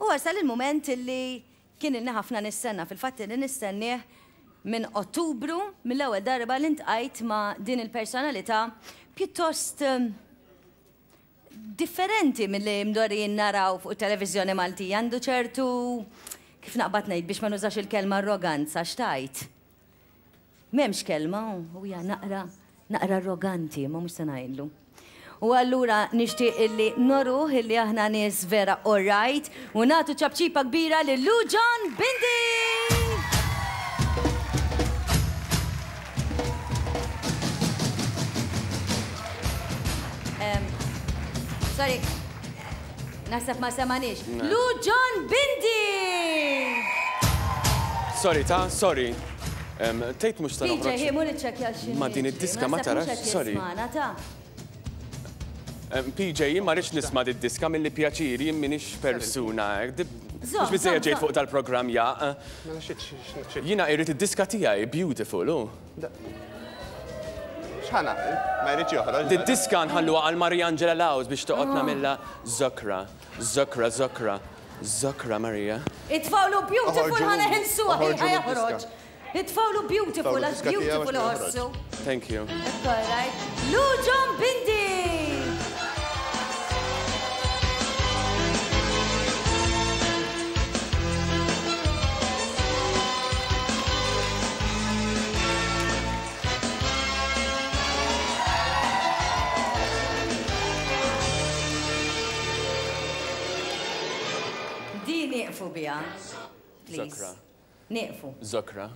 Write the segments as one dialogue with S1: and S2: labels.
S1: U wasal il-mument illi kien ilni ħafna nistenna, fil-fatt ilni nistennieh minn Ottubru, mill-ewwel darba li ntqajt ma' din il-personalità pjuttost differenti milli mdorrijin naraw fuq it-televiżjoni Maltija. Għandu ċertu, kif naqbad ngħid biex ma nużax il-kelma arroganza, x'tgħid? M'hemmx kelma, u hija naqra, naqra arroganti, imma mhux se ngħidlu. U allura nixtieq illi noruh illi aħna nies vera alright u nagħtu ċapċipa kbira lil Lou John Bindi! Sorry, naħseb ma semanix. Lou John Bindi!
S2: Sorry, ta' sorry. Tgħid mhux se noħroġ.
S1: PJ, hi mur iċċekkja x'inhi.
S2: Ma din id-diska ma tarax, sorry. PJ, jien ma rridx nisma' did-diska milli pjaċir, jien m'iniex persuna hekk. Mhux biżżejjed ġejt fuq dal-programm jaqq. Jiena irrid id-diska tiegħi, beautiful, hu.
S3: X'ħa nagħmel? Ma jridx joħroġ.
S2: Did-diska nħalluha għal Mariangela Laus biex toqgħod nagħmilha żokra, żokra, żokra. Zokra Maria.
S1: Itfgħulu beautiful ħa neħilsuha hi ħa joħroġ. Itfgħulu beautiful għax beautiful iħossu.
S2: Thank you.
S1: Alright. Luġon Bindi! Di nieqfu biha. Please.
S2: Zokra.
S1: Nieqfu.
S2: Zokra.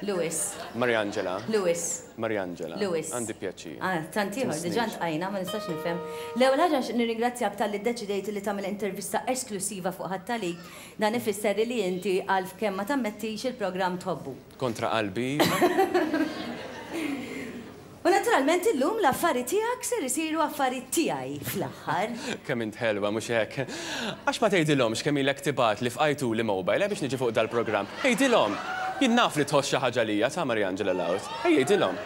S1: Lewis.
S2: Mariangela.
S1: Lewis.
S2: Mariangela.
S1: Lewis.
S2: Għandi pjaċir.
S1: Ah, tant ieħor, diġà ntqajna, ma nistax nifhem. L-ewwel ħaġa nixtieq nirringrazzjak talli ddeċidejt li tagħmel intervista esklussiva fuq Ħadd Għalik. Dan ifisser li inti għalf kemm ma tammettix il-programm tħobbu.
S2: Kontra qalbi, iva.
S1: U naturalment illum l-affari tiegħek ser isiru affari tiegħi fl-aħħar.
S2: Kemm int ħelwa, mhux hekk? Għax ma tgħidilhomx kemm ilek tibgħatli f'qajtuli mobile, eh, biex niġi fuq dal-programm. Għidilhom! Jien naf li tħoss xi ħaġa għalija, ta' Mariangela Laut. Ejja għidilhom.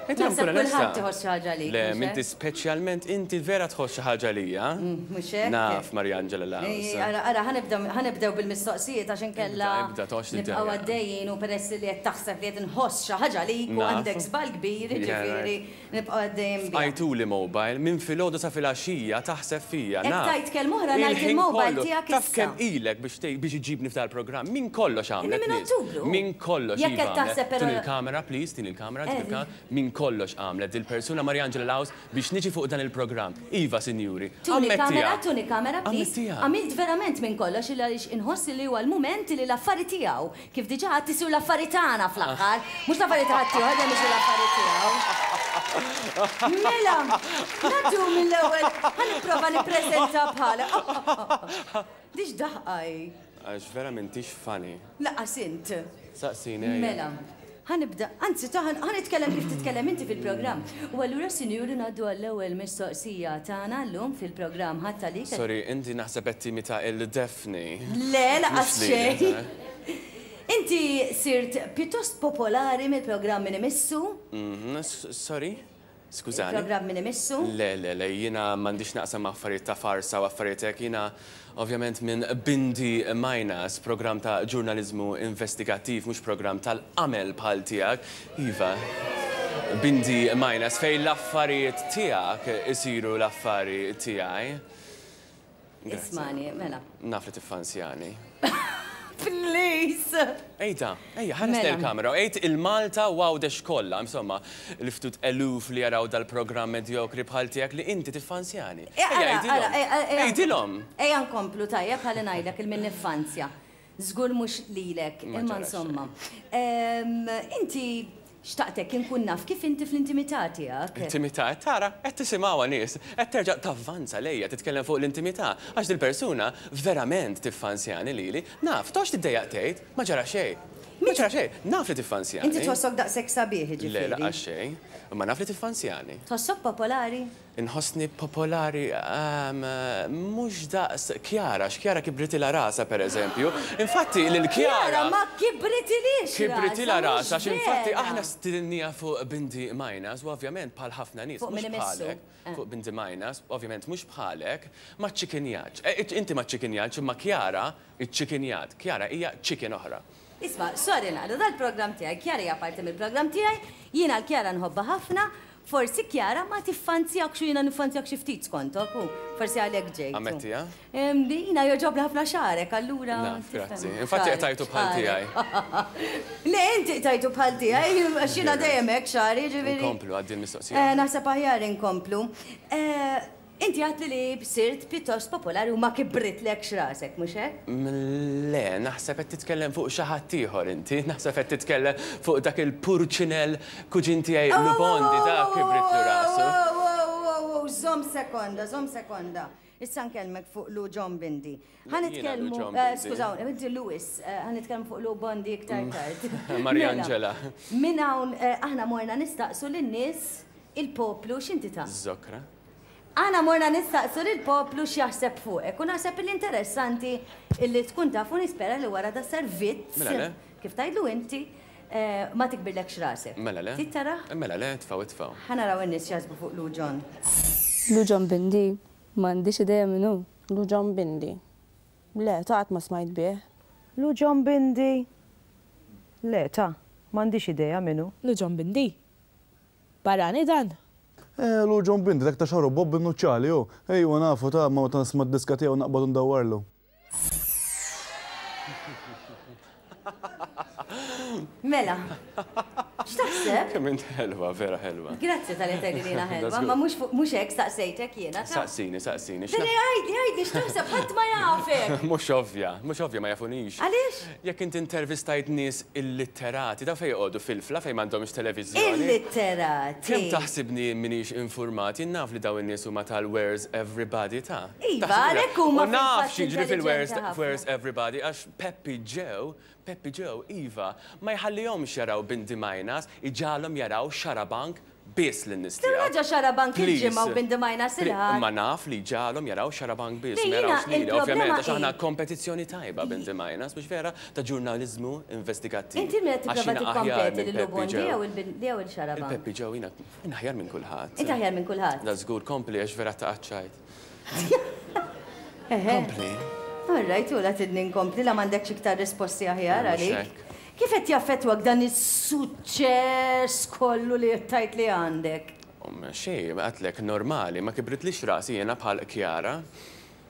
S2: Għidilhom
S1: Naħseb
S2: kun onesta.
S1: kulħadd iħoss xi ħaġa għalik,
S2: Le,
S1: mhux hekk?
S2: m'inti speċjalment inti vera tħoss xi ħaġa għalija.
S1: Mhux hekk?
S2: Naf, Mariangela Laut.
S1: Ej, ara, ara, ħa nibda, ħa nibdew bil-mistoqsijiet għax inkella
S2: Ibda, ibda, toqgħodx
S1: nibqgħu
S2: tiddejjaq.
S1: għaddejjin u peress li qed taħseb li qed inħoss xi ħaġa għalik u
S2: Naf.
S1: għandek żball kbir,
S2: Yeah,
S1: jiġifieri
S2: right.
S1: nibqgħu għaddejjin biha.
S2: Fqajtuli mobile, minn filgħodu sa filgħaxija taħseb fija,
S1: Hekk
S2: naf.
S1: tgħid kelma oħra ngħid
S2: Il-ħin
S1: il-mobile
S2: kollu.
S1: tiegħek
S2: Taf
S1: issa.
S2: kemm ilek biex tgħid biex iġġibni f'dal-programm? Minn kollox
S1: Inni
S2: għamlet
S1: minn
S2: nies.
S1: Ottubru.
S2: Minn kollox,
S1: Jekk
S2: iva
S1: qed
S2: għamlet.
S1: taħseb però
S2: Tini l-kamera, please, tini l-kamera, tini
S1: Eh.
S2: l-kamera. Minn kollox għamlet dil-persuna Mariangela Laus biex niġi fuq dan il-programm. Iva, sinjuri.
S1: Tuni
S2: Ammettiha.
S1: kamera, tuni kamera, please.
S2: Ammettiha.
S1: Għamilt verament minn kollox il għaliex inħoss li huwa l-mument li l-affari tiegħu, kif diġà għedt isiru l-affari tagħna fl-aħħar, mhux l-affari ta' ħaddieħor dejjem isiru l-affari tiegħu. Mela, ngħaddu mill-ewwel, ħa nipprova nippreżenta bħala. Di x'daħqa hi?
S2: Għax vera m'intix funny.
S1: Lanqas int.
S2: Saqsini ejja.
S1: Mela, ħa nibda, anzi ta' ħa nitkellem kif titkellem inti fil-programm. U allura sinjuri ngħaddu għall-ewwel mistoqsija tagħna llum fil-programm Ħadd Għalik.
S2: Sorry, inti naħseb qed timita 'l Daphne.
S1: Le, lanqas
S2: Mhux lili,
S1: xejn.
S2: eh?
S1: Inti sirt pjuttost popolari mill-programm Min Imissu.
S2: Mhm, sorry? Skużani.
S1: Il-programm min imissu?
S2: Le, le, le, jiena m'għandix x'naqsam ma' affarijiet ta' farsa u affarijiet hekk. Jiena ovvjament minn Bindi Minus, programm ta' ġurnaliżmu investigattiv, mhux programm tal-qamel bħal tiegħek. Iva, Bindi Minus, fejn l-affarijiet tiegħek isiru l-affari tiegħi.
S1: Ismani, mela.
S2: Naf li tiffansjani.
S1: Please!
S2: Ejta, ejja, ħares lejn
S1: Mela.
S2: il-kamera u għid il-Malta u Għawdex kollha, insomma, l-ftut eluf li jaraw dal-programm medjokri bħal tiegħek li inti tiffansjani.
S1: Eh,
S2: Ejja,
S1: ara, ara,
S2: għidilhom.
S1: eh, eh,
S2: Għidilhom!
S1: Ejja nkomplu tajjeb ħalli ngħidlek il min niffansja. Żgur mhux lilek,
S2: Ma
S1: imma
S2: ġara
S1: insomma. Ehm, Inti Xtaqtek inkun naf kif inti fl-intimità tiegħek.
S2: Intimità, qed tara? Qed tisimgħuha nies? Qed terġa' tavvanza lejja titkellem fuq l-intimità, għax dil-persuna verament tiffansjani lili. Naf, toqgħodx tiddejjaq tgħid, ma ġara xejn. Ma ġara xejn, naf li tiffansjani.
S1: Inti tħossok daqshekk sabiħ, jiġifieri.
S2: Le, lanqas xejn. Imma naf li tiffansjani.
S1: Tħossok popolari?
S2: Inħossni popolari mhux daqs Chiara, għax Chiara kibritilha rasha pereżempju. Infatti lil Chiara.
S1: Chiara ma kibritilhiex rasha.
S2: Kibritilha rasha għax infatti aħna stidinniha fuq Bindi Minus u ovvjament bħal ħafna nies mhux bħalek. Fuq Bindi Minus, ovvjament mhux bħalek, ma ċċikinjatx. Inti ma ċċikinjatx imma Chiara ċċikinjat. Chiara hija chicken oħra.
S1: Isma', sorry naqra, dal-programm tiegħi, Chiara hija parti mill-programm tiegħi, jiena 'l Chiara nħobbha ħafna, Forsi Chiara ma tiffanzjakx u jiena niffanzjak xi ftit skontok, u forsi għalhekk ġejt.
S2: Ammettiha?
S1: Jiena jogħġobni ħafna xagħrek, allura.
S2: Naf, grazzi. Infatti qtajtu bħal tiegħi.
S1: Le, inti qtajtu bħal tiegħi, għax jiena dejjem hekk xagħri, jiġifieri.
S2: Inkomplu, għaddi l-mistoqsija.
S1: Naħseb aħjar inkomplu. Inti għedtli li sirt pjuttost popolari u ma kibritlekx rasek, mhux hekk?
S2: Le, naħseb qed titkellem fuq xi ħadd ieħor inti. Naħseb qed titkellem fuq dak il-purċinell kuġin tiegħi Lubondi, dak kibritlu rasu.
S1: Ow, żomm sekonda, żomm sekonda. Issa nkellmek fuq Lou John Bindi. Ħa nitkellmu, skużawni, inti Louis, ħa nitkellmu fuq Lou Bondi iktar tard.
S2: Mariangela.
S1: Minn hawn aħna morna nistaqsu lin-nies, il-poplu, x'inti ta'?
S2: Żokra.
S1: Aħna morna nistaqsu lill-poplu x'jaħseb fuqek u naħseb illi interessanti illi tkun taf u nispera li wara das-servizz,
S2: Mela le.
S1: kif tgħidlu inti, ma tikbirlekx rasek.
S2: Mela le.
S1: Trid tarah?
S2: Mela le, itfgħu itfgħu.
S1: Ħa naraw in-nies x'jaħsbu fuq Lou John.
S4: Lou John Bindi? M'għandix idea min hu.
S5: Lou John Bindi? Le, ta' qatt ma smajt bih.
S6: Lou John Bindi? Le, ta', m'għandix idea min hu.
S7: Lou John Bindi? Barrani dan?
S8: Eh, Lou John Bindi, dak ta' xagħru bob in-nuċċali, hu. Ejwa nafu ta' imma meta nisma' d-diska tiegħu naqbad u ndawwarlu.
S1: Mela, x'taħseb?
S2: Kemm int ħelwa, vera ħelwa.
S1: Grazzi talli tgħidli li jiena ħelwa, imma mhux fuq mhux hekk staqsejtek jiena.
S2: Saqsini, saqsini.
S1: Le, le, għidli, għidli x'taħseb, ħadd ma jafek.
S2: Mhux ovvja, mhux ovvja ma jafunix.
S1: Għaliex?
S2: Jekk inti intervistajt nies illitterati, dawn fejn joqogħdu fil-fla fejn m'għandhomx televiżjoni?
S1: Illitterati!
S2: Kemm taħsibni jien m'iniex infurmat? Jien naf li dawn in-nies huma tal-Where's Everybody ta'.
S1: Iva, għalhekk huma
S2: U naf
S1: fil-fatt
S2: x'jiġri fil-Where's
S1: intelliġenti ħafna.
S2: Where's Everybody għax Peppi Joe, Peppi Joe, iva, ma jħallihomx jaraw Bindi Majnas, iġagħalhom jaraw Xarabank biss lin-nies
S1: Kemm
S2: tiegħu.
S1: raġa Xarabank il-Ġimgħa u Bindi Majnas il-Ħadd?
S2: Imma naf li jġagħalhom jaraw Xarabank biss,
S1: Le,
S2: ma
S1: jiena
S2: jarawx lili,
S1: il-problema
S2: ovvjament, għax
S1: hi
S2: aħna kompetizzjoni tajba Bindi Majnas, mhux vera, ta' ġurnaliżmu investigattiv.
S1: Inti min qed
S2: Għax
S1: tipprova
S2: jiena aħjar
S1: tikkompeti
S2: minn
S1: lil Lou
S2: Peppi
S1: Bondi
S2: Joe.
S1: jew il jew il Xarabank?
S2: Il-Peppi Joe jiena jien aħjar minn kulħadd.
S1: Inti aħjar minn kulħadd?
S2: Da żgur, kompli għax vera taqaċċajt.
S1: Eħe.
S2: Kompli.
S1: All right, u la tidni nkompli la m'għandekx iktar risposti aħjar
S2: Mhux
S1: għalik.
S2: hekk.
S1: Kif qed jaffettwak dan is-suċċess kollu li qed tgħid li għandek?
S2: Xejn, għedtlek normali, ma kibritlix rasi jiena bħal Chiara.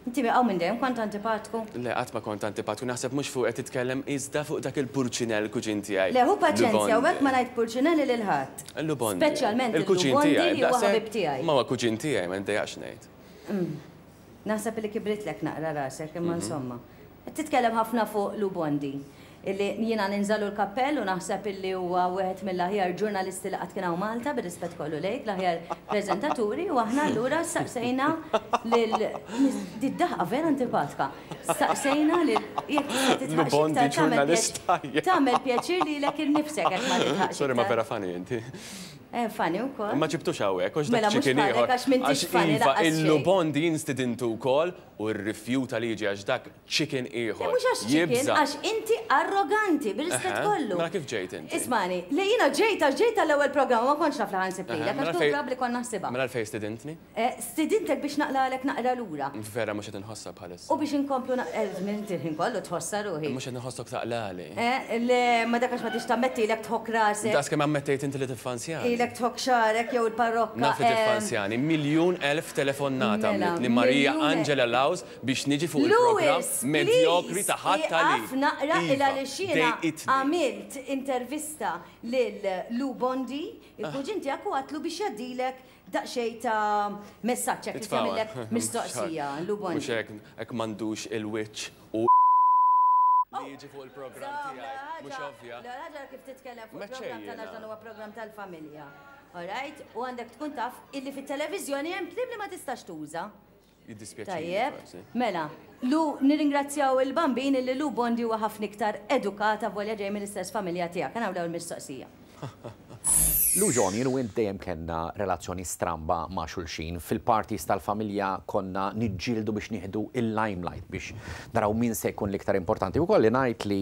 S1: Inti hawn minn dejjem kont antipatku?
S2: Le, qatt ma kont antipatku, naħseb mhux fuq qed titkellem iżda fuq dak il-purċinell kuġin tiegħi.
S1: Le, ħu paċenzja, u hekk ma ngħid purċinelli lil ħadd.
S2: Lubondi.
S1: Speċjalment
S2: Il-kuġin
S1: il-Lubondi
S2: tiegħi.
S1: li huwa ħabib tiegħi.
S2: Ma huwa kuġin tiegħi, ma ndejjaqx ngħid.
S1: Naħseb li kibritlek naqra rasek, imma insomma. Qed titkellem ħafna fuq Lou Bondi, illi jiena ninżalu l-kappell u naħseb illi huwa wieħed mill-aħjar ġurnalisti li qatt kien hawn Malta, bir-rispett kollu lejk, l-aħjar preżentaturi, u aħna allura staqsejna lil Did-daħqa vera antipatka. Staqsejna lil jekk tista'
S2: Lou
S1: titħaqx
S2: Bondi
S1: iktar tagħmel
S2: ġurnalist tajjeb.
S1: tagħmel pjaċir lilek innifsek jekk ma titħaqx
S2: Sorry ma
S1: iktar.
S2: vera funny inti.
S1: Eh, funny wkoll.
S2: Ma ġibtux hawnhekk, għax dak
S1: Mela mhux
S2: chicken
S1: bħalek
S2: ieħor.
S1: għax m'intix
S2: Għax
S1: funny
S2: iva,
S1: lanqas xejn.
S2: il-Lubondi jien stidintu wkoll u rrifjuta li jiġi għax dak chicken
S1: Le
S2: ieħor.
S1: mhux għax chicken,
S2: Jibża'.
S1: għax inti arroganti, bir-rispett
S2: Eħe,
S1: kollu.
S2: Mela kif ġejt inti?
S1: Ismani, le jiena ġejt għax ġejt għall-ewwel programm ma kontx naf li ħa nsib lilek,
S2: Eħe,
S1: għax
S2: mela
S1: kieku
S2: fejn-
S1: probabbli kont naħsibha.
S2: Mela għalfejn stidintni?
S1: Eh, stidintek biex naqlagħlek naqra lura.
S2: Vera mhux qed inħossha bħalissa.
S1: U biex inkomplu naq- eh, inti l-ħin kollu tħossha ruħi.
S2: Mhux qed inħossok taqlagħli.
S1: Eh, le, ma dak għax ma tix tammetti ilek tħokk rasek.
S2: Daqs kemm ammettejt inti li tiffansjani.
S1: Ilek tħokk xagħrek jew il-parrokka.
S2: Naf li tiffansjani. 1,000,000 telefonata
S1: Mela,
S2: għamlitli Maria
S1: miljun
S2: Angela Laws biex niġi fuq il-programm
S1: Louis,
S2: medjokri
S1: please,
S2: ta' ħadd għalik.
S1: ieqaf naqra
S2: Iva,
S1: il għaliex jiena
S2: dejqitni.
S1: għamilt intervista lil Lou Bondi, il-kuġin tiegħek u għatlu biex jgħaddilek daqsxejn ta' messaġġ hekk li
S2: Itfgħuha.
S1: tagħmillek mistoqsija, Lou Bondi.
S2: Mhux hekk, hekk m'għandux il-wiċċ u li jiġi fuq il-programm tiegħi. Mhux ovvja.
S1: L-ewwel ħaġa kif titkellem fuq
S2: Ma
S1: il-programm
S2: xejn
S1: tagħna
S2: jiena.
S1: dan huwa programm tal-familja. All right? U għandek tkun taf illi fit-televiżjoni hemm kliem li ma tistax tuża.
S2: Jiddispjaċini.
S1: Tajjeb,
S2: forsi.
S1: mela, Lu, nirringrazzjaw il-Bambin illi Lou Bondi huwa ħafna iktar edukat avolja ġej mill-istess familja tiegħek. Ħa nagħmlu l-ewwel mistoqsija.
S9: Lou John, jien u int dejjem kellna relazzjoni stramba ma' xulxin. Fil-parties tal-familja konna niġġieldu biex nieħdu il-limelight, biex naraw min se jkun l-iktar importanti. U kolli ngħid li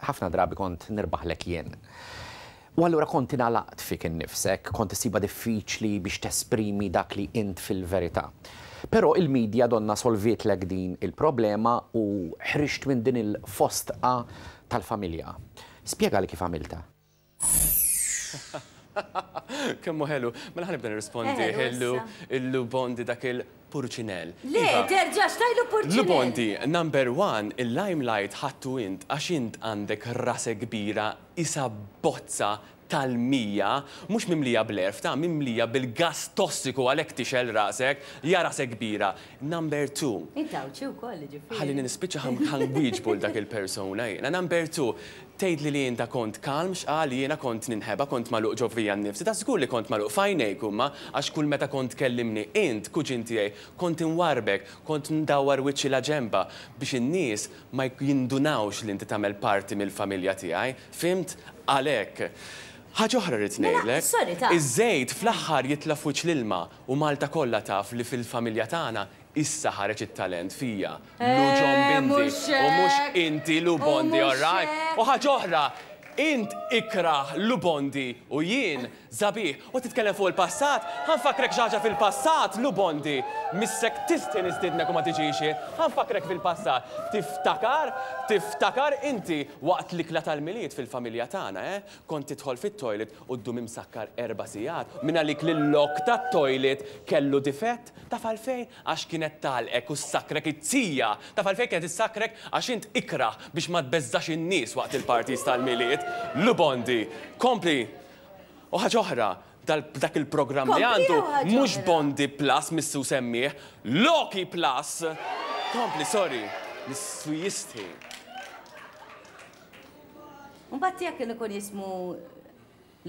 S9: ħafna drabi kont nirbaħlek jien. U allura kont ingħalaqt fik innifsek, kont issibha diffiċli biex tesprimi dak li int fil-verità. Però il-media donnha solvietlek din il-problema u ħriġt minn din il-fostqa tal-familja. Spjegali kif għamiltha.
S2: Kemm hu ħelu. Mela ħa nibda nirrispondi.
S1: Ħelu issa.
S2: Illu Bondi dak il-purċinell.
S1: Le,
S2: Iva.
S1: terġax tgħidlu purċinell.
S2: Lu Bondi, number one, il-limelight ħadtu int għax int għandek rase kbira Qisha bozza tal-mija, mhux mimlija bl-għerf, ta' mimlija bil-gass tossiku għalhekk tixgħel rasek, ja rasek kbira. Number two.
S1: Int Għawdxi wkoll, jiġifieri.
S2: Ħallini nispiċċa ħa nwieġbu 'l dak il-persuna jiena. Number two, tgħidli li inta kont kalm x'qal jiena kont ninħeba, kont magħluq ġo fija nnifsi. Ta' żgur li kont magħluq f'għajnejk huma għax kull meta kont tkellimni int, kuġin tiegħi, kont inwarrbek, kont ndawwar wiċċi laġenba biex in-nies ma jindunawx li inti tagħmel parti mill-familja tiegħi, fhimt? Għalhekk. Ħaġa oħra rrid
S1: Mela,
S2: ngħidlek,
S1: sorry ta.
S2: iż-żejt fl-aħħar jitla' f'wiċċ l-ilma u Malta kollha taf li fil-familja tagħna issa ħareġ it-talent fija, Lou John
S1: Eh,
S2: Bindi,
S1: mhux
S2: u mhux
S1: hekk!
S2: inti Lou
S1: U
S2: Bondi,
S1: mhux
S2: all right?
S1: hekk!
S2: U ħaġa oħra, int ikrah Lou Bondi u jien Sabiħ. U titkellem fuq il-passat? Ħa nfakkrek xi ħaġa fil-passat, Lou Bondi. Missek tistħi nistiednek u ma tiġix int. Ħa nfakkrek fil-passat. Tiftakar? Tiftakar inti waqt l-ikla tal-Milied fil-familja tagħna, eh? Kont tidħol fit-toilet u ddum imsakkar erba' sigħat. Min għalik li l-lock tat-toilet kellu difett? Taf għalfejn? Għax kienet tagħlqek u ssakkrek it-tija. Taf għalfejn kienet issakkrek? Għax int ikrah biex ma tbeżżax in-nies waqt il-parties tal-Milied. Lou Bondi. Kompli! U ħaġa oħra, dak il-programm li għandu mhux Bondi Plus missu semmih, Loki Plus! Kompli, sorry, missu jistħi.
S1: Mbagħad tiegħek kien ikun jismu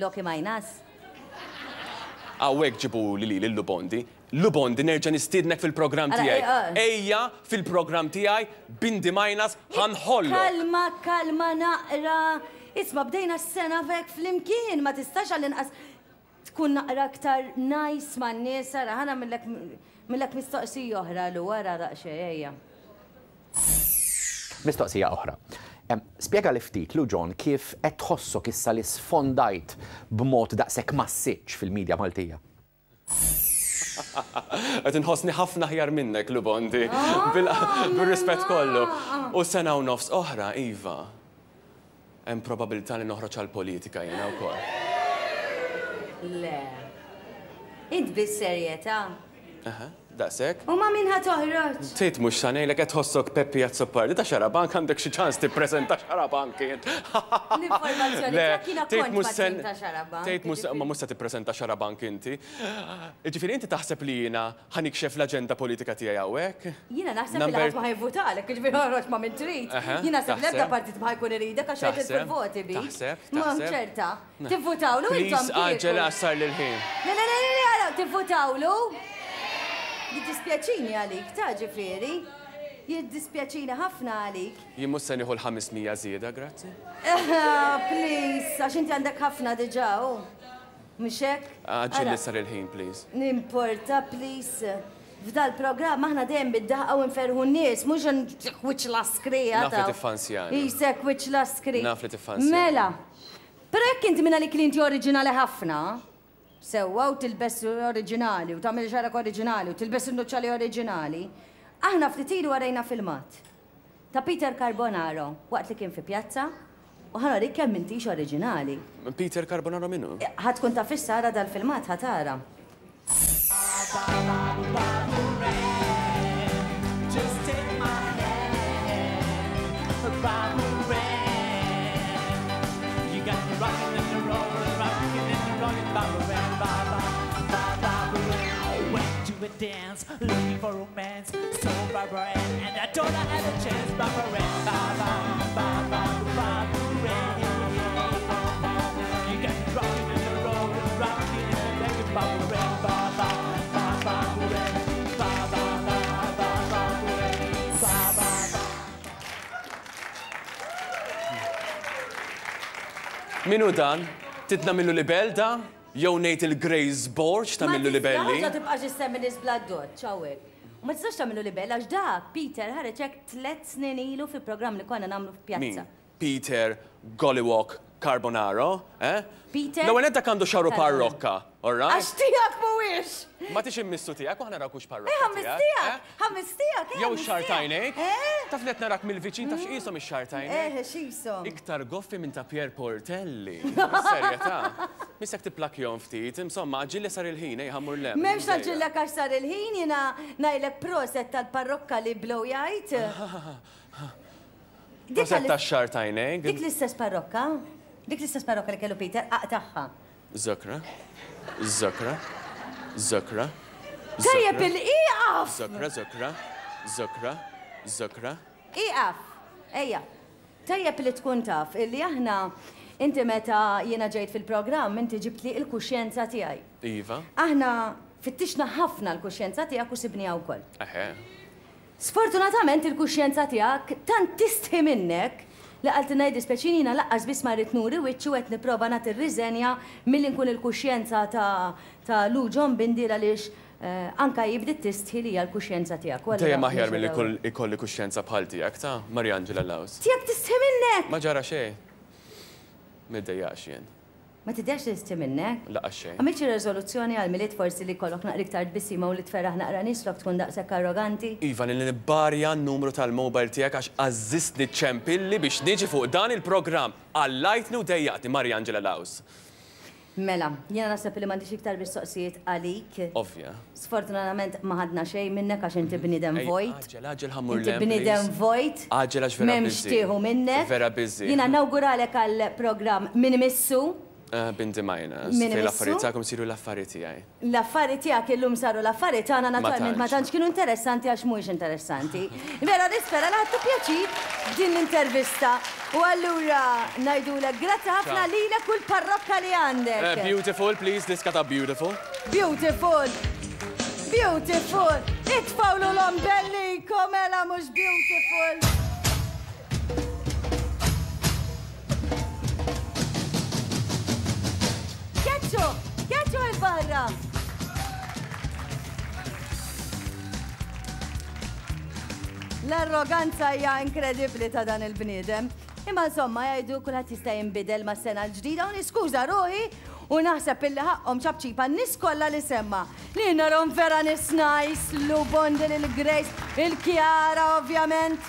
S1: Loki Minus?
S2: Hawnhekk ġibuli lili Lou Bondi. Lou Bondi nerġa' nistiednek fil-programm tiegħi. Ejja fil-programm tiegħi Bindi Minus ħa nħollok.
S1: Kalma, kalma naqra. Isma' bdejna s-sena f'hekk flimkien, ma tistax għall-inqas tkun naqra aktar nice man-nies, ara ħa nagħmillek nagħmillek mistoqsija oħra Lu, ara daqsxejn ejja.
S9: Mistoqsija oħra. Spjegali ftit, Lu John, kif qed tħossok issa li sfondajt b'mod daqshekk massiċċ fil-media Maltija?
S2: Qed inħossni ħafna aħjar minnek, Lubondi, bir-rispett kollu. U sena u nofs oħra, iva, hemm probabilità li noħroġ għall-politika jiena wkoll.
S1: Le. Int bis-serjetà?
S2: Eħe. Daqshekk?
S1: U ma' min ħa toħroġ?
S2: Tgħid mhux sa ngħidlek qed tħossok Peppi Azzopardi ta' Xarabank għandek xi ċans tippreżenta Xarabank int.
S1: L-informazzjoni tiegħek jiena kont mat-tim ta' Xarabank.
S2: Tgħid mhux ma mhux se tippreżenta Xarabank inti. Jiġifieri inti taħseb li jiena ħa nikxef l-aġenda politika tiegħi hawnhekk?
S1: Jiena naħseb li ħadd ma ħa jivvutalek, jiġifieri oħroġ ma' min trid. Jien naħseb l-ebda partit ma ħa jkun iridek għax ħa jitilfu l-voti bik.
S2: Taħseb?
S1: Ma ċerta. Tivvutawlu intom
S2: Please għaġġel għax sarli l-ħin.
S1: Le, le, le, le, le, tivvutawlu? Jiddispjaċini għalik, ta' ġifieri. Jiddispjaċini ħafna għalik.
S2: Jien mhux se nieħu l-500 żieda, grazzi.
S1: Please, għax inti għandek ħafna diġà, u. Mhux hekk?
S2: Għaġġel li sar il-ħin, please.
S1: Nimporta, please. F'dal-programm aħna dejjem bid-daħqa u nferrħu n-nies, mhux wiċċ laskri.
S2: Naf li tiffansjani.
S1: Isek wiċċ laskri.
S2: Naf li tiffansjani.
S1: Mela. Però jekk inti minn għalik li inti oriġinali ħafna, sewwa u tilbes oriġinali u tagħmel xagħrek oriġinali u tilbes in-nuċċali oriġinali, aħna ftit ilu warejna filmat ta' Peter Carbonaro waqt li kien fi pjazza u ħa norik kemm m'intix oriġinali.
S2: Peter Carbonaro min hu?
S1: Ħa tkun taf issa ara dal-filmat ħa tara.
S2: Min hu dan? Trid nagħmillu libell da? Jew ngħid il-Grace Borg tagħmillu libelli?
S1: Ma tibqax issemmi nies bl-addoċċ hawnhekk. U ma tistax tagħmillu libell għax dak Peter ħareġ hekk tlett snin ilu fi programm li konna nagħmlu f'pjazza.
S2: Min? Peter Gollywog Carbonaro, eh?
S1: Peter.
S2: L-ewwel nett dak għandu xagħru parrokka, all right?
S1: Għax tiegħek mhuwiex!
S2: Ma tix immissu tiegħek u aħna narawk hux parrokka.
S1: Eh, ħammis tiegħek! Ħammis tiegħek, eh!
S2: Jew ix-xagħar t'għajnejk. Taf li qed narak mill-viċin taf x'qishom ix-xagħar t'għajnejk?
S1: Eh, x'qishom?
S2: Iktar goffi minn ta' Pierre Portelli. Bis-serjetà. Missek tipplakjhom ftit, insomma, għaġġilli sar il-ħin, ejja ħa mmur 'l hemm.
S1: M'hemmx ngħaġġillek għax sar il-ħin, jiena ngħidlek proset tal-parrokka li blowjajt.
S2: Proset tax-xagħar t'għajnejk.
S1: Dik l-istess parrokka? Dik l-istess parrokka li kellu Peter, aqtagħha.
S2: Żokra, żokra, żokra,
S1: Tajjeb il-ieqaf!
S2: Żokra, żokra, żokra, żokra.
S1: Ieqaf! Ejja. Tajjeb li tkun taf illi aħna inti meta jiena ġejt fil-programm inti ġibtli il-kuxjenza tiegħi.
S2: Iva.
S1: Aħna fittixna ħafna l-kuxjenza tiegħek u sibniha wkoll.
S2: Eħe.
S1: Sfortunatament il-kuxjenza tiegħek tant tistħi minnek li qaltilna jiddispjaċini jiena laqqas biss ma rrid nuri wiċċi u qed nipprova nagħti r-riżenja milli nkun il-kuxjenza ta' ta' Lou John Bindi għaliex anka hi bdiet tistħi li hija l-kuxjenza tiegħek u allura
S2: Dejjem aħjar
S1: mhux
S2: milli
S1: allura.
S2: jkolli kuxjenza bħal tiegħek ta' Mariangela Laus.
S1: Tiegħek tistħi minnek!
S2: Ma ġara xejn. Middejjaqx jien.
S1: Ma tidhirx li tistħi minnek?
S2: Lanqas xejn.
S1: Għamilt xi reżoluzzjoni għall-Milied forsi li jkollok naqra iktar tbissima u li tferraħ naqra nies flok tkun daqshekk arroganti?
S2: Iva, li nibbarja n-numru tal-mobile tiegħek għax għażżistni ċċempilli biex niġi fuq dan il-programm. Qallajtni u dejjaqtni, Mariangela Laus.
S1: Mela, jiena naħseb li m'għandix iktar mistoqsijiet għalik.
S2: Ovvja.
S1: Sfortunatament ma ħadna xejn minnek għax inti bniedem vojt.
S2: Għaġġel, għaġġel ħa mmur 'l
S1: Inti
S2: hemm,
S1: bniedem
S2: please.
S1: vojt.
S2: Għaġġel għax vera
S1: M'hemmx
S2: busy.
S1: tieħu minnek.
S2: Vera busy.
S1: Jiena nawguralek għall-programm Min Imissu.
S2: Eh, Binti Minus.
S1: Min
S2: Fejn
S1: Imissu.
S2: l-affarijiet tagħkom isiru l-affarijiet tiegħi.
S1: L-affari tiegħek illum saru l-affari tagħna naturalment ma
S2: tantx.
S1: tantx kienu interessanti għax mhuwiex interessanti. Vera nispera li ħadtu pjaċir b'din l-intervista u allura ngħidulek grazzi ħafna
S2: Ciao.
S1: lilek u l-parrokka li għandek.
S2: Eh, beautiful, please, diska ta' beautiful.
S1: Beautiful! Beautiful! Itfawlu l-ombellikom mela mhux beautiful! Keċċu! Keċċu il-barra! L-arroganza hija inkredibbli ta' dan il-bniedem. Imma insomma jgħidu kulħadd jista' jinbidel mas-sena l-ġdida u niskuża ruħi u naħseb illi ħaqqhom ċapċipa n-nies kollha li semma. Li narhom vera nies nice, Lou Bondi, lil Grace, il-Chiara ovvjament.